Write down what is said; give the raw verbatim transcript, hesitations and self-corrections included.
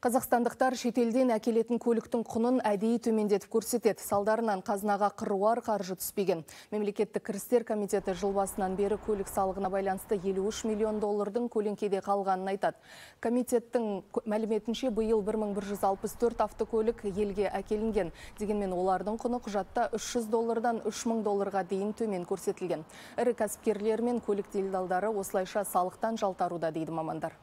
Қазақстандықтар шетелден әкелетін көліктің құнын әдейі төмендетіп көрсетеді. Салдарынан қазынаға қыруар қаржы түспеген. Мемлекеттік кірістер комитеті жыл басынан бері көлік салығына байланысты елу үш миллион доллардың көлеңкеде қалғанын айтады. Комитеттің мәліметінше биыл бір мың бір жүз алпыс төрт автокөлік елге әкелінген. Дегенмен олардың құны құжатта үш жүз доллардан үш мың долларға дейін төмен көрсетілген. Ірі кәсіпкерлер мен көлік делдалдары осылайша салықтан жалтаруда дейді мамандар.